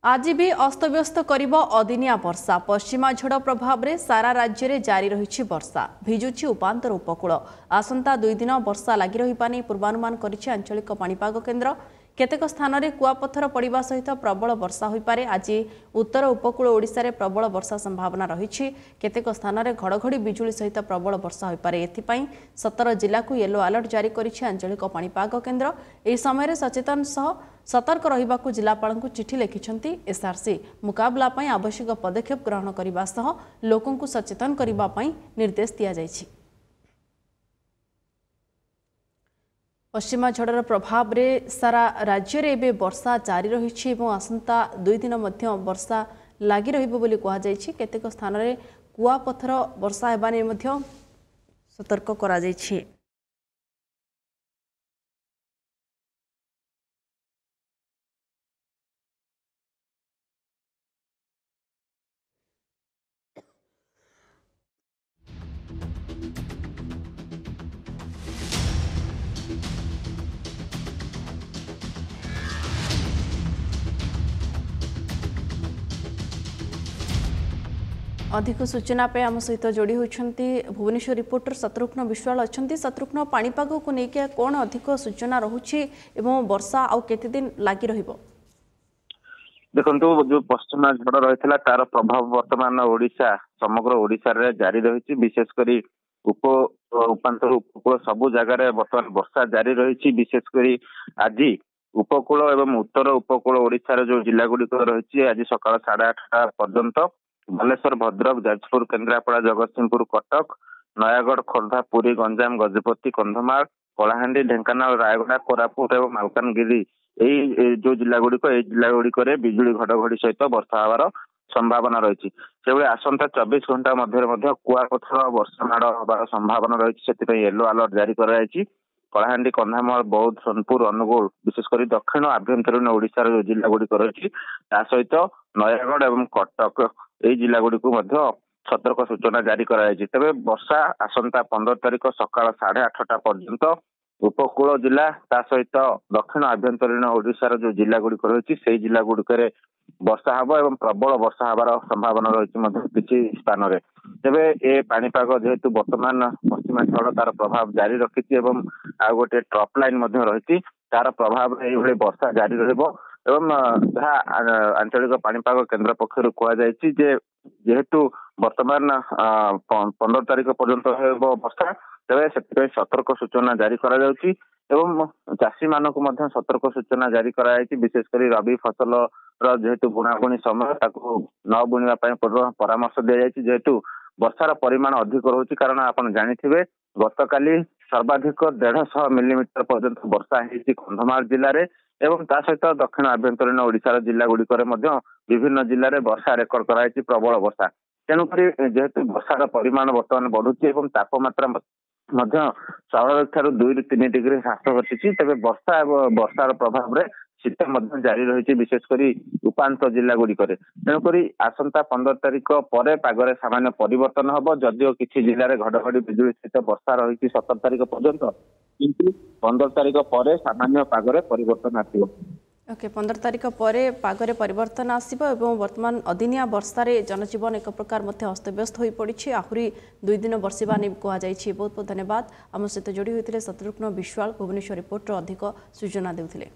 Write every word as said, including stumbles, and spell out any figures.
ଆଜି ବି ଅସ୍ତବ୍ୟସ୍ତ କରିବ ଅଦିନିଆ ବର୍ଷା। ପଶ୍ଚିମା ଝଡ଼ ପ୍ରଭାବରେ ସାରା ରାଜ୍ୟରେ ଜାରି ରହିଛି ବର୍ଷା, ଭିଜୁଛି ଉପାନ୍ତର ଉପକୂଳ। ଆସନ୍ତା ଦୁଇ ଦିନ ବର୍ଷା ଲାଗି ରହିବା ନେଇ ପୂର୍ବାନୁମାନ କରିଛି ଆଞ୍ଚଳିକ ପାଣିପାଗ କେନ୍ଦ୍ର। କେତେକ ସ୍ଥାନରେ କୁଆପଥର ପଡ଼ିବା ସହିତ ପ୍ରବଳ ବର୍ଷା ହୋଇପାରେ। ଆଜି ଉତ୍ତର ଉପକୂଳ ଓଡ଼ିଶାରେ ପ୍ରବଳ ବର୍ଷା ସମ୍ଭାବନା ରହିଛି। କେତେକ ସ୍ଥାନରେ ଘଡ଼ଘଡ଼ି ବିଜୁଳି ସହିତ ପ୍ରବଳ ବର୍ଷା ହୋଇପାରେ। ଏଥିପାଇଁ ସତର ଜିଲ୍ଲାକୁ ୟେଲୋ ଆଲର୍ଟ ଜାରି କରିଛି ଆଞ୍ଚଳିକ ପାଣିପାଗ କେନ୍ଦ୍ର। ଏହି ସମୟରେ ସଚେତନ ସହ ସତର୍କ ରହିବାକୁ ଜିଲ୍ଲାପାଳଙ୍କୁ ଚିଠି ଲେଖିଛନ୍ତି ଏସ୍ଆର୍ସି। ମୁକାବିଲା ପାଇଁ ଆବଶ୍ୟକ ପଦକ୍ଷେପ ଗ୍ରହଣ କରିବା ସହ ଲୋକଙ୍କୁ ସଚେତନ କରିବା ପାଇଁ ନିର୍ଦ୍ଦେଶ ଦିଆଯାଇଛି। ପଶ୍ଚିମା ଝଡ଼ର ପ୍ରଭାବରେ ସାରା ରାଜ୍ୟରେ ଏବେ ବର୍ଷା ଜାରି ରହିଛି ଏବଂ ଆସନ୍ତା ଦୁଇ ଦିନ ମଧ୍ୟ ବର୍ଷା ଲାଗି ରହିବ ବୋଲି କୁହାଯାଇଛି। କେତେକ ସ୍ଥାନରେ କୁଆପଥର ବର୍ଷା ହେବା ନେଇ ମଧ୍ୟ ସତର୍କ କରାଯାଇଛି। ଅଧିକ ସୂଚନା ପାଇଁ ଆମ ସହିତ ଯୋଡ଼ି ହୋଇଛନ୍ତି ଭୁବନେଶ୍ୱର ରିପୋର୍ଟର ଶତ୍ରୁଘ୍ନ ବିଶ୍ୱାଳ ଅଛନ୍ତି। ଶତ୍ରୁଘ୍ନ, ପାଣିପାଗକୁ ନେଇକି କ'ଣ ଅଧିକ ସୂଚନା ରହୁଛି ଏବଂ ବର୍ଷା ଆଉ କେତେ ଦିନ ଲାଗି ରହିବ? ଦେଖନ୍ତୁ, ଯୋଉ ପଶ୍ଚିମା ଝଡ଼ ରହିଥିଲା ତାର ପ୍ରଭାବ ବର୍ତ୍ତମାନ ଓଡ଼ିଶା, ସମଗ୍ର ଓଡ଼ିଶାରେ ଜାରି ରହିଛି। ବିଶେଷ କରି ଉପ ଉପାନ୍ତର ଉପକୂଳ ସବୁ ଜାଗାରେ ବର୍ତ୍ତମାନ ବର୍ଷା ଜାରି ରହିଛି। ବିଶେଷ କରି ଆଜି ଉପକୂଳ ଏବଂ ଉତ୍ତର ଉପକୂଳ ଓଡ଼ିଶାର ଯୋଉ ଜିଲ୍ଲା ଗୁଡ଼ିକ ରହିଛି, ଆଜି ସକାଳ ସାଢେ ଆଠଟା ପର୍ଯ୍ୟନ୍ତ ବାଲେଶ୍ୱର, ଭଦ୍ରକ, ଯାଜପୁର, କେନ୍ଦ୍ରାପଡ଼ା, ଜଗତସିଂହପୁର, କଟକ, ନୟାଗଡ଼, ଖୋର୍ଦ୍ଧା, ପୁରୀ, ଗଞ୍ଜାମ, ଗଜପତି, କନ୍ଧମାଳ, କଳାହାଣ୍ଡି, ଢେଙ୍କାନାଳ, ରାୟଗଡ଼ା, କୋରାପୁଟ ଏବଂ ମାଲକାନଗିରି, ଏଇ ଯୋଉ ଜିଲ୍ଲା ଗୁଡ଼ିକ, ଏଇ ଜିଲ୍ଲା ଗୁଡ଼ିକରେ ବିଜୁଳି ଘଡଘଡି ସହିତ ବର୍ଷା ହେବାର ସମ୍ଭାବନା ରହିଛି। ସେଭଳି ଆସନ୍ତା ଚବିଶ ଘଣ୍ଟା ମଧ୍ୟରେ ମଧ୍ୟ କୁଆପଥର ବର୍ଷା ମାଡ଼ ହେବାର ସମ୍ଭାବନା ରହିଛି, ସେଥିପାଇଁ ୟେଲୋ ଆଲର୍ଟ ଜାରି କରାଯାଇଛି। କଳାହାଣ୍ଡି, କନ୍ଧମାଳ, ବୌଦ୍ଧ, ସୋନପୁର, ଅନୁଗୁଳ, ବିଶେଷ କରି ଦକ୍ଷିଣ ଆଭ୍ୟନ୍ତରୀଣ ଓଡ଼ିଶାର ଯୋଉ ଜିଲ୍ଲା ଗୁଡ଼ିକ ରହିଛି, ତା ସହିତ ନୟାଗଡ଼ ଏବଂ କଟକ, ଏଇ ଜିଲ୍ଲା ଗୁଡ଼ିକୁ ମଧ୍ୟ ସତର୍କ ସୂଚନା ଜାରି କରାଯାଇଛି। ତେବେ ବର୍ଷା ଆସନ୍ତା ପନ୍ଦର ତାରିଖ ସକାଳ ସାଢେ ଆଠଟା ପର୍ଯ୍ୟନ୍ତ ଉପକୂଳ ଜିଲ୍ଲା, ତା ସହିତ ଦକ୍ଷିଣ ଆଭ୍ୟନ୍ତରୀଣ ଓଡ଼ିଶାର ଯୋଉ ଜିଲ୍ଲା ଗୁଡ଼ିକ ରହିଛି, ସେଇ ଜିଲ୍ଲା ଗୁଡ଼ିକରେ ବର୍ଷା ହବ ଏବଂ ପ୍ରବଳ ବର୍ଷା ହେବାର ସମ୍ଭାବନା ରହିଛି ମଧ୍ୟ କିଛି ସ୍ଥାନରେ। ତେବେ ଏ ପାଣିପାଗ ଯେହେତୁ ବର୍ତ୍ତମାନ ପଶ୍ଚିମା ଝଡ଼ ତାର ପ୍ରଭାବ ଜାରି ରଖିଛି ଏବଂ ଆଉ ଗୋଟେ ଟ୍ରପ୍ ଲାଇନ ମଧ୍ୟ ରହିଛି, ତାର ପ୍ରଭାବରେ ଏଇଭଳି ବର୍ଷା ଜାରି ରହିବ। ଏବଂ ଯାହା ଆଞ୍ଚଳିକ ପାଣିପାଗ କେନ୍ଦ୍ର ପକ୍ଷରୁ କୁହାଯାଇଛି ଯେ ଯେହେତୁ ବର୍ତ୍ତମାନ ପନ୍ଦର ତାରିଖ ପର୍ଯ୍ୟନ୍ତ ହେବ ବର୍ଷା, ତେବେ ସେଥିପାଇଁ ସତର୍କ ସୂଚନା ଜାରି କରାଯାଉଛି ଏବଂ ଚାଷୀମାନଙ୍କୁ ମଧ୍ୟ ସତର୍କ ସୂଚନା ଜାରି କରାଯାଇଛି। ବିଶେଷ କରି ରବି ଫସଲର ଯେହେତୁ ବୁଣାବୁଣି ସମୟ, ତାକୁ ନ ବୁଣିବା ପାଇଁ ପରାମର୍ଶ ଦିଆଯାଇଛି, ଯେହେତୁ ବର୍ଷାର ପରିମାଣ ଅଧିକ ରହୁଛି। କାରଣ ଆପଣ ଜାଣିଥିବେ, ଗତକାଲି ସର୍ବାଧିକ ଦେଢ଼ଶହ ମିଲିମିଟର ପର୍ଯ୍ୟନ୍ତ ବର୍ଷା ହେଇଛି କନ୍ଧମାଳ ଜିଲ୍ଲାରେ ଏବଂ ତା ସହିତ ଦକ୍ଷିଣ ଆଭ୍ୟନ୍ତରୀଣ ଓଡ଼ିଶାର ଜିଲ୍ଲା ଗୁଡ଼ିକରେ ମଧ୍ୟ ବିଭିନ୍ନ ଜିଲ୍ଲାରେ ବର୍ଷା ରେକର୍ଡ କରାଯାଇଛି, ପ୍ରବଳ ବର୍ଷା। ତେଣୁକରି ଯେହେତୁ ବର୍ଷାର ପରିମାଣ ବର୍ତ୍ତମାନ ବଢୁଛି ଏବଂ ତାପମାତ୍ରା ମଧ୍ୟ ସ୍ୱାଭାବିକ ଠାରୁ ଦୁଇରୁ ତିନି ଡିଗ୍ରୀ ହ୍ରାସ ଘଟିଛି, ତେବେ ବର୍ଷା ଏବଂ ବର୍ଷାର ପ୍ରଭାବରେ ଶୀତ ମଧ୍ୟ ଜାରି ରହିଛି, ବିଶେଷ କରି ଉପାନ୍ତ ଜିଲ୍ଲା ଗୁଡ଼ିକରେ। ତେଣୁକରି ଆସନ୍ତା ପନ୍ଦର ତାରିଖ ପରେ ପାଗରେ ସାମାନ୍ୟ ପରିବର୍ତ୍ତନ ହବ। ଯଦିଓ କିଛି ଜିଲ୍ଲାରେ ଘଡଘଡି ବିଜୁଳି ସହିତ ବର୍ଷା ରହିଛି ସତର ତାରିଖ ପର୍ଯ୍ୟନ୍ତ, କିନ୍ତୁ ପନ୍ଦର ତାରିଖ ପରେ ସାମାନ୍ୟ ପାଗରେ ପରିବର୍ତ୍ତନ ଆସିବ। ଓକେ, ପନ୍ଦର ତାରିଖ ପରେ ପାଗରେ ପରିବର୍ତ୍ତନ ଆସିବ ଏବଂ ବର୍ତ୍ତମାନ ଅଦିନିଆ ବର୍ଷାରେ ଜନଜୀବନ ଏକ ପ୍ରକାର ମଧ୍ୟ ଅସ୍ତବ୍ୟସ୍ତ ହୋଇପଡ଼ିଛି। ଆହୁରି ଦୁଇ ଦିନ ବର୍ଷିବା ନେଇ କୁହାଯାଇଛି। ବହୁତ ବହୁତ ଧନ୍ୟବାଦ, ଆମ ସହିତ ଯୋଡ଼ି ହୋଇଥିଲେ ଶତ୍ରୁଘ୍ନ ବିଶ୍ୱାଳ, ଭୁବନେଶ୍ୱର ରିପୋର୍ଟର ଅଧିକ ସୂଚନା ଦେଉଥିଲେ।